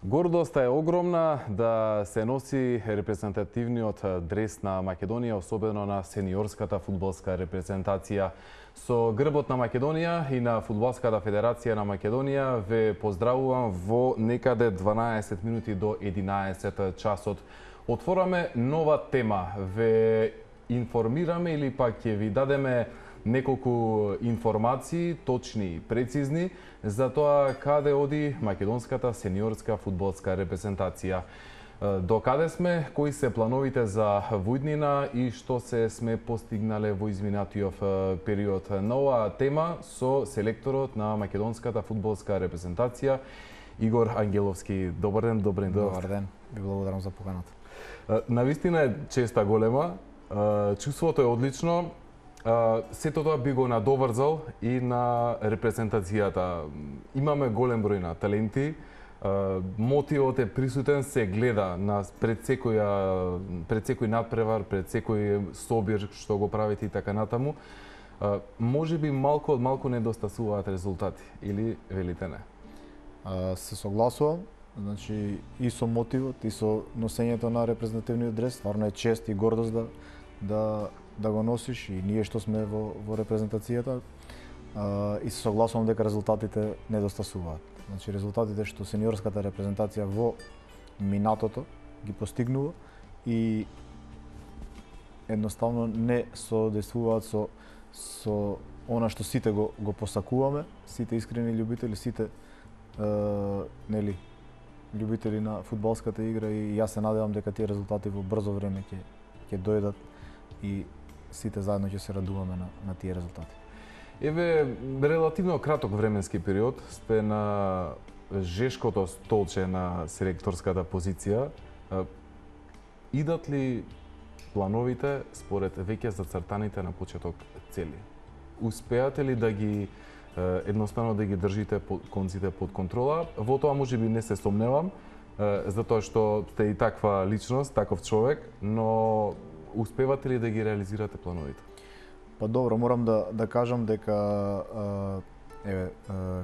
Гордоста е огромна да се носи репрезентативниот дрес на Македонија, особено на сениорската фудбалска репрезентација. Со грбот на Македонија и на Фудбалската федерација на Македонија ве поздравувам во некаде 12 минути до 11 часот. Отвораме нова тема, ве информираме или пак ќе ви дадеме неколку информации, точни и прецизни, за тоа каде оди македонската сениорска фудбалска репрезентација. До каде сме, кои се плановите за војднина и што се сме постигнале во изминатиот период. На оваа тема со селекторот на македонската фудбалска репрезентација Игор Ангеловски. Добар ден, добре дојдовте. Добар ден, ви благодарам за поканата. Навистина е честа голема, чувството е одлично. Сето тоа би го надоврзал и на репрезентацијата. Имаме голем број на таленти, мотивот е присутен, се гледа пред секој надпревар, пред секој собир што го правите и така натаму. Може би малку од малку недостасуваат резултати, или велите не? Се согласувам, значи и со мотивот, и со носењето на репрезентативниот дрес, стварно е чест и гордост да го носиш, и ние што сме во репрезентацијата, и се согласувам дека резултатите недостасуваат. Значи резултатите што сениорската репрезентација во минатото ги постигнува и едноставно не соодействуваат со она што сите го посакуваме, сите искрени љубители, сите љубители на фудбалската игра, и јас се надевам дека тие резултати во брзо време ќе дојдат и сите заедно ќе се радуваме на тие резултати. Еве, релативно краток временски период сте на жешкото столче на селекторската позиција. Идат ли плановите според веќе зацртаните на почеток цели? Успеате ли да ги едноставно да ги држите конците под контрола? Во тоа можеби не се сомневам, затоа што сте и таква личност, таков човек, но успевате ли да ги реализирате плановите? Па добро, морам да кажам дека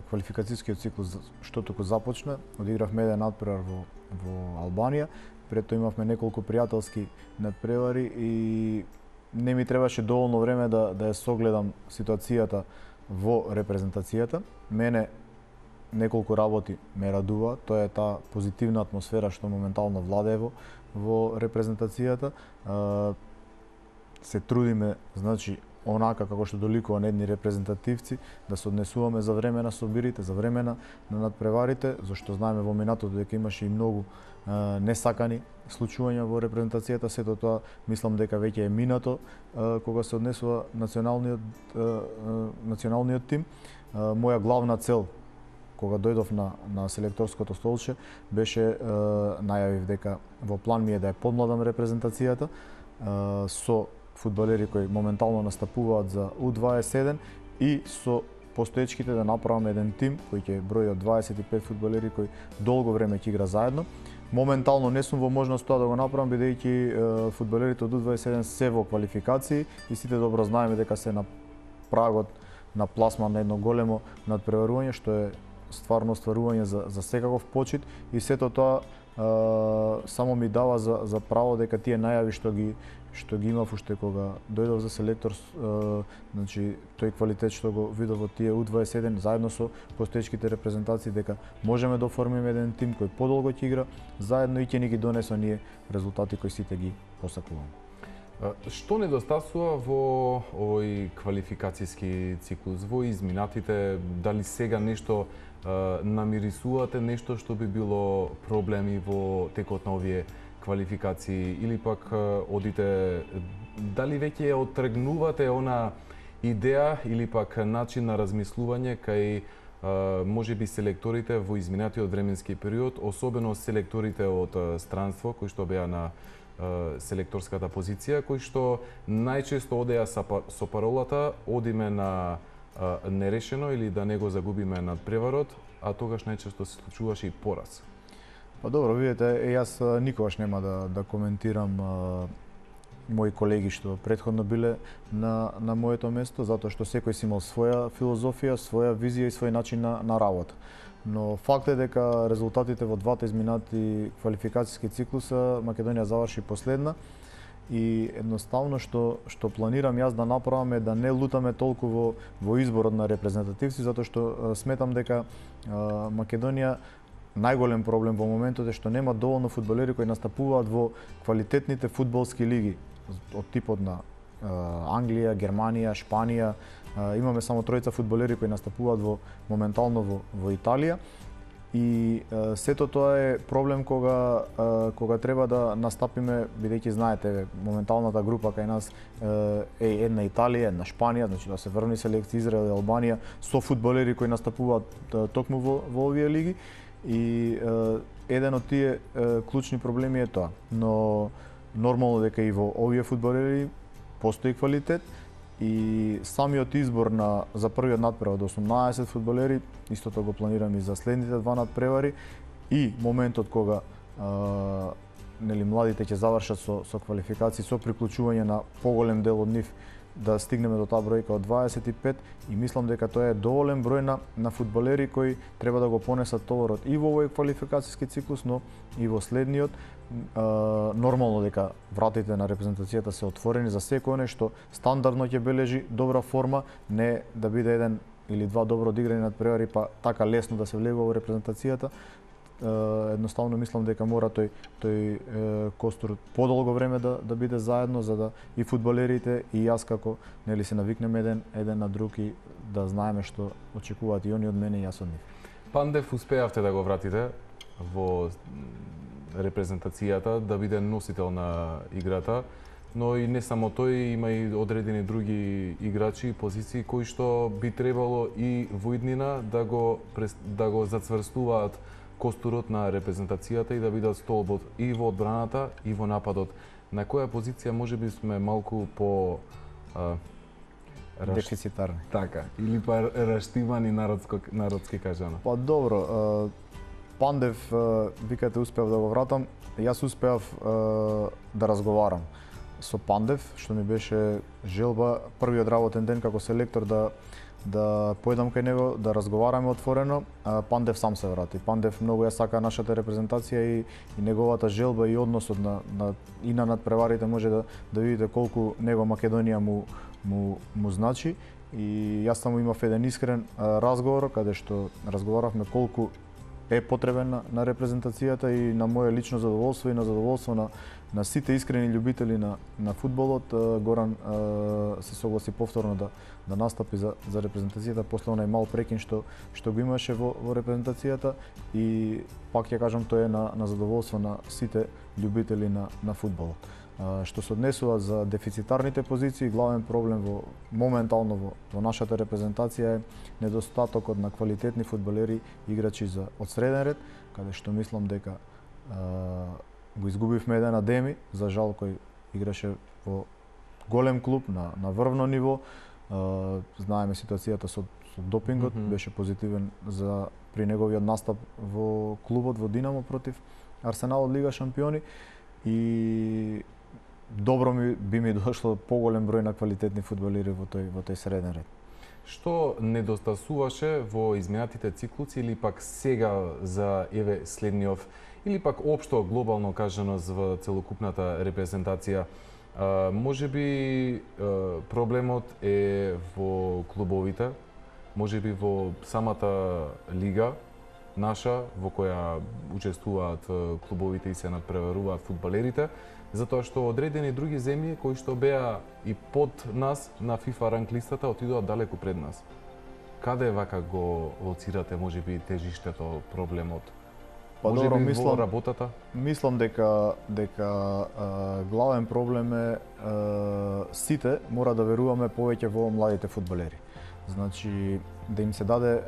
квалификацијскиот циклус што току започна, одигравме еден надпревар во Албанија, пред тоа имавме неколку пријателски надпревари и не ми требаше доволно време да ја согледам ситуацијата во репрезентацијата. Мене неколку работи ме радуваат, тоа е таа позитивна атмосфера што моментално владее во репрезентацијата. Се трудиме, значи, онака како што доликува на едни репрезентативци, да се однесуваме за време на собирите, за време на надпреварите, зашто знаеме во минатото дека имаше и многу несакани случувања во репрезентацијата. Сето тоа мислам дека веќе е минато кога се однесува националниот тим. Моја главна цел кога дојдов на селекторското столче беше, најавив дека во план ми е да ја подмладам репрезентацијата со фудбалери кои моментално настапуваат за U21 и со постоечките да направам еден тим кој ќе брои од 25 фудбалери кои долго време ќе игра заедно. Моментално не сум во можност тоа да го направам, бидејќи фудбалерите од U21 се во квалификации и сите добро знаеме дека се на прагот на пласман на едно големо надпреварување, што е стварно остварување за секаков почит, и сето тоа само ми дава за право дека тие најави што ги имав уште кога дојдов за селектор, значи тој квалитет што го видов во тие U21 заедно со постоечките репрезентации, дека можеме да оформиме еден тим кој подолго ќе игра заедно и ќе ни ги донесе оние резултати кои сите ги посакуваме. Што недостасува во овој квалификацијски циклус, во изминатите? Дали сега нешто намирисувате, нешто што би било проблеми во текот на овие квалификации, или пак одите, дали веќе ја оттргнувате она идеја или пак начин на размислување кај можеби селекторите во изминатиот временски период, особено селекторите од странство кои што беа на селекторската позиција, кои што најчесто одеа со паролата одиме на нерешено или да не го загубиме надпреварот, а тогаш најчесто се случуваше и пораз. Па добро, видите, јас никогаш нема да коментирам мои колеги што претходно биле на моето место, затоа што секој си имал своја филозофија, своја визија и свој начин на работа. Но факт е дека резултатите во двата изминати квалификацијски циклуса Македонија заврши последна и едноставно што планирам јас да направам е да не лутаме толку во изборот на репрезентативци, затоа што сметам дека Македонија најголем проблем во моментот е што нема доволно фудбалери кои настапуваат во квалитетните фудбалски лиги од типот на Англија, Германија, Шпанија. Имаме само тројца фудбалери кои настапуваат моментално во Италија. И сето тоа е проблем кога треба да настапиме, бидејќи знаете, моменталната група кај нас е една Италија, една Шпанија, значи да се врвни селекција Израел и Албанија со фудбалери кои настапуваат токму во овие лиги. И еден од тие клучни проблеми е тоа. Но нормално дека и во овие фудбалери постои квалитет и самиот избор за првиот надпревар од 18 фудбалери, истото го планирам и за следните два надпревари, и моментот кога младите ќе завршат со квалификации, со приклучување на поголем дел од нив, да стигнеме до таа бројка од 25, и мислам дека тоа е доволен број на фудбалери кои треба да го понесат товарот и во овој квалификацијски циклус, но и во следниот. Нормално дека вратите на репрезентацијата се отворени за секој оној што стандардно ќе бележи добра форма, не да биде еден или два добро одиграни надпревари па така лесно да се влегува во репрезентацијата. Едноставно мислам дека мора тој костур подолго време да биде заедно, за да и фудбалерите и јас како се навикнеме еден на друг и да знаеме што очекуваат и они од мене и јас од нив. Пандев успеавте да го вратите во репрезентацијата, да биде носител на играта, но и не само тој, има и одредени други играчи и позиции кои што би требало и во иднина да го зацврстуваат костурот на репрезентацијата и да бидат столбот и во одбраната и во нападот. На која позиција можеби сме малку по дефицитарни. Така, или па раштивани народски кажано. Па добро, Пандев, викате, успеав да го вратам. Јас успеав да разговарам со Пандев, што ми беше желба првиот работен ден како селектор да појдам кај него, да разговараме отворено. Пандев сам се врати. Пандев многу ја сака нашата репрезентација и неговата желба и односот и на надпреварите може да видите колку него Македонија му значи. И јас само имав еден искрен разговор каде што разговаравме колку е потребен на репрезентацијата и на моје лично задоволство и на задоволство на сите искрени љубители на фудбалот. Горан се согласи повторно да настапи за репрезентацијата после онај мал прекин што го имаше во репрезентацијата, и пак ќе кажам, тоа е на задоволство на сите љубители на фудбалот. Што се однесува за дефицитарните позиции, главен проблем моментално во нашата репрезентација е недостатокот на квалитетни фудбалери, играчи од среден ред, каде што мислам дека го изгубивме еден Адеми, за жал, кој играше во голем клуб на врвно ниво. Знаеме ситуацијата со допингот, беше позитивен при неговиот настап во клубот во Динамо против Арсенал од Лига шампиони, и добро би ми дошло поголем број на квалитетни фудбалери во тој среден ред. Што недостасуваше во изминатите циклуси или пак сега за следниот, или пак општо глобално кажано во целокупната репрезентација? Можеби проблемот е во клубовите, можеби во самата лига наша, во која учествуваат клубовите и се надпреваруваат фудбалерите, затоа што одредени други земји кои што беа и под нас на FIFA ранг листата отидоа далеку пред нас. Каде вака го лоцирате можеби тежиштето, проблемот? Добро, во работата? Мислам дека главен проблем е сите мора да веруваме повеќе во младите фудбалери. Значи, да им се даде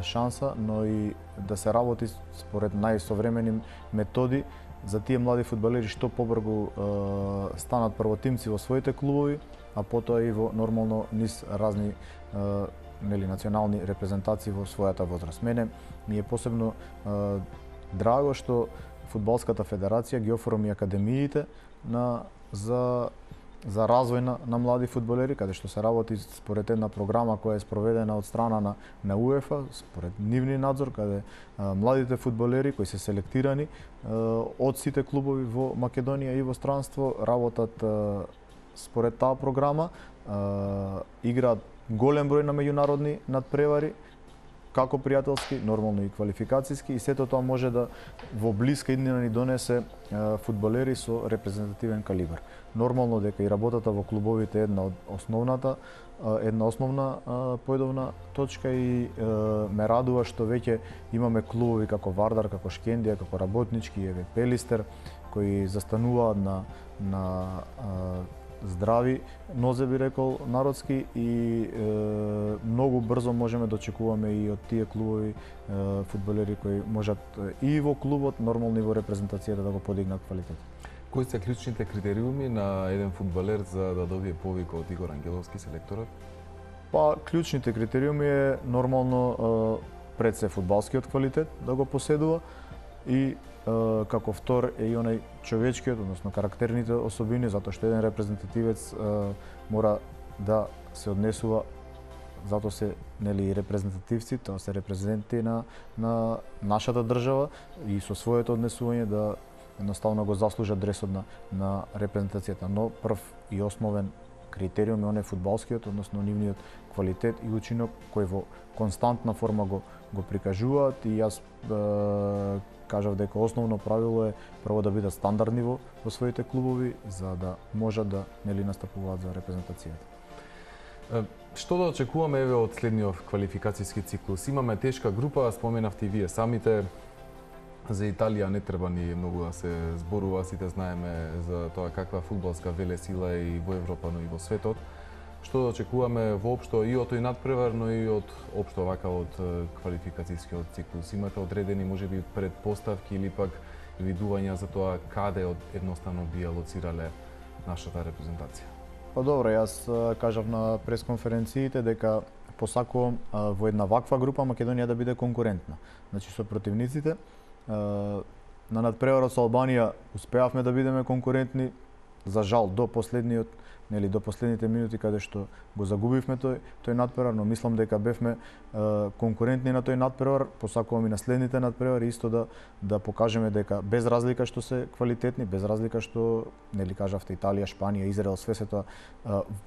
шанса, но и да се работи според најсовремени методи за тие млади фудбалери што побрзо станат првотимци во своите клубови, а потоа и во нормално низ разни национални репрезентации во својата возраст. Мене ми е посебно драго што Фудбалската федерација ги оформи академиите за за развој на млади фудбалери, каде што се работи според една програма која е спроведена од страна на УЕФА, според нивни надзор, каде младите фудбалери кои се селектирани од сите клубови во Македонија и во странство работат според таа програма, играат голем број на меѓународни надпревари, како пријателски, нормално и квалификацијски, и сето тоа може да во блиска иднина ни донесе фудбалери со репрезентативен калибар. Нормално дека и работата во клубовите е една основна појдовна точка и ме радува што веќе имаме клубови како Вардар, како Шкендија, како Работнички, еве Пелистер, кои застануваат на здрави нозе, би рекол народски, и многу брзо можеме да очекуваме и од тие клубови фудбалери кои можат и во клубот, нормално и во репрезентацијата да го подигнат квалитет. Кои се клучните критериуми на еден фудбалер за да добие повика од Игор Ангеловски, селекторот? Па, клучните критериуми е нормално пред се фудбалскиот квалитет да го поседува и како втор е и онај човечкиот, односно карактерните особини, затоа што еден репрезентативец мора да се однесува, затоа се нели репрезентативци, тоа се репрезенти на нашата држава и со своето однесување да едноставно го заслужат дресот на репрезентацијата, но прв и основен критериум е оној фудбалскиот, односно нивниот квалитет и учинок кој во константна форма го прикажуваат, и јас кажав дека основно правило е прво да бидат стандардни во своите клубови за да можат да нели настапуваат за репрезентацијата. Што да очекуваме еве од следниот квалификацијски циклус? Имаме тешка група, споменавте и вие самите. За Италија не треба ни многу да се зборува, сите знаеме за тоа каква фудбалска велесила е и во Европа, но и во светот. Што да очекуваме воопшто и од тој надпревар, но и од општо вака од квалификацијскиот циклус? Имате одредени можеби предпоставки или пак видувања за тоа каде едноставно би алоцирале нашата репрезентација? Па добро, јас кажав на пресконференциите дека посакувам во една ваква група Македонија да биде конкурентна. Значи со противниците на надпреварот со Албанија успеавме да бидеме конкурентни, за жал до последните минути каде што го загубивме тој надпревар, но мислам дека бевме конкурентни на тој надпревар. Посакувам и на следните надпревари исто да покажеме дека без разлика што се квалитетни, без разлика што нели кажавте Италија, Шпанија, Израел, све се тоа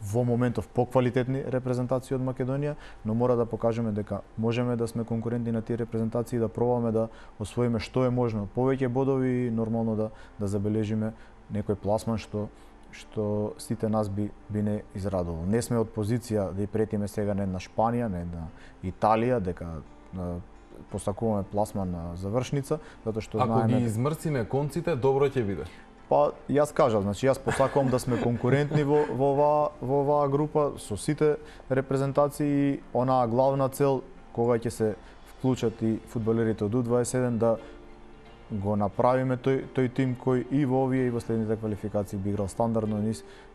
во моментов поквалитетни репрезентации од Македонија, но мора да покажеме дека можеме да сме конкурентни на тие репрезентации и да пробаме да освоиме што е можно повеќе бодови и нормално да забележиме некој пласман што сите нас би не израдувал. Не сме од позиција да и претиме сега на една Шпанија, на една Италија, дека посакуваме пласман на завршница, затоа што знаеме... Ако ги измрсиме конците, добро ќе биде. Па, јас кажав, значи јас посакувам да сме конкурентни во оваа група со сите репрезентации и онаа главна цел кога ќе се вклучат и фудбалерите од U21 да го направиме тој тим кој и во овие и во следните квалификации би играл стандардно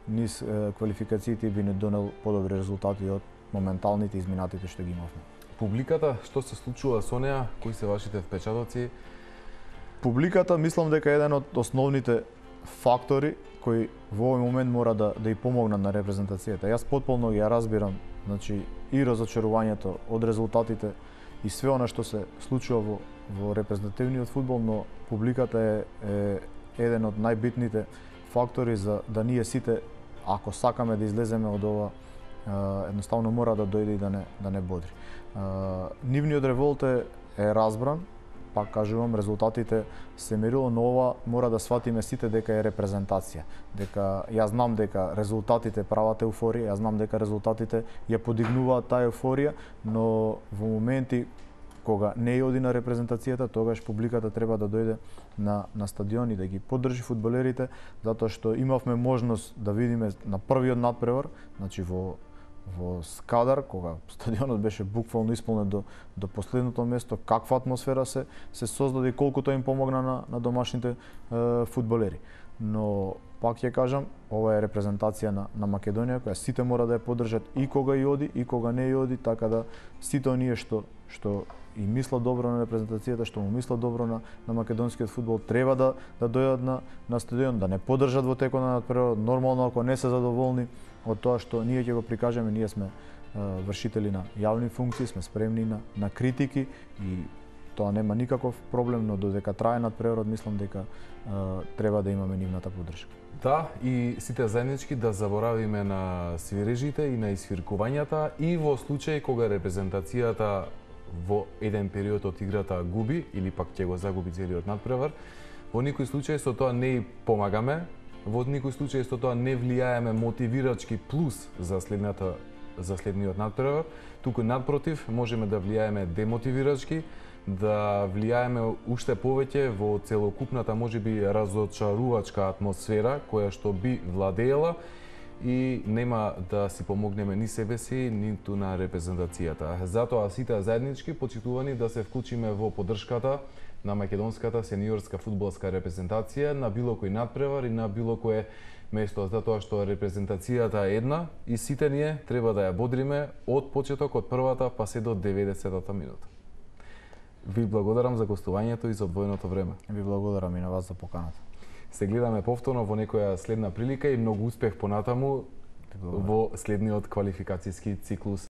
низ квалификациите и би не донел подобри резултати од моменталните изминатите што ги имавме. Публиката, што се случува со неа? Кои се вашите впечатоци? Публиката мислам дека е еден од основните фактори кои во овој момент мора да и помогнат на репрезентацијата. Јас потполно ја разбирам, значи и разочарувањето од резултатите и све она што се случува во репрезентативниот фудбал, но публиката е еден од најбитните фактори за да ние сите, ако сакаме да излеземе од ова, едноставно мора да дојде и да не бодри. Нивниот револт е разбран, пак кажувам, резултатите се мерило, но ова мора да сватиме сите дека е репрезентација. Дека јас знам дека резултатите прават еуфорија, јас знам дека резултатите ја подигнуваат таа еуфорија, но во моменти кога не оди на репрезентацијата, тогаш публиката треба да дојде на стадион и да ги поддржи фудбалерите, затоа што имавме можност да видиме на првиот надпревар, значи во Скадар, кога стадионот беше буквално исполнет до последното место, каква атмосфера се создаде и колку тоа им помогна на домашните фудбалери. но пак ќе кажам, ова е репрезентација на Македонија која сите мора да ја поддржат и кога и оди и кога не и оди, така да сите оние што и мислат добро на репрезентацијата, што му мислат добро на македонскиот фудбал, треба да дојдат на стадион, да не поддржат во текот на надпреварот. Нормално, ако не се задоволни од тоа што ние ќе го прикажеме, ние сме вршители на јавни функции, сме спремни на критики и тоа нема никаков проблем, но додека трае надпреварот, мислам дека треба да имаме нивната поддршка. Да, и сите заеднички да заборавиме на свирежите и на исфиркувањата и во случај кога репрезентацијата во еден период од играта губи или пак ќе го загуби целиот надпревар, во никој случај со тоа не и помагаме, во никој случај со тоа не влијаеме мотивирачки плюс за следниот надпревар, туку надпротив можеме да влијаеме демотивирачки, да влијаеме уште повеќе во целокупната можеби разочарувачка атмосфера која што би владеела и нема да си помогнеме ни себе си, ниту на репрезентацијата. Затоа сите заеднички почитувани да се вклучиме во поддршката на македонската сениорска фудбалска репрезентација на било кој надпревар и на било кое место, затоа што репрезентацијата е една и сите ние треба да ја бодриме од почеток, од првата па се до 90-та минута. Ви благодарам за гостувањето и за одвоеното време. Ви благодарам и на вас за поканата. Се гледаме повторно во некоја следна прилика и многу успех понатаму во следниот квалификацијски циклус.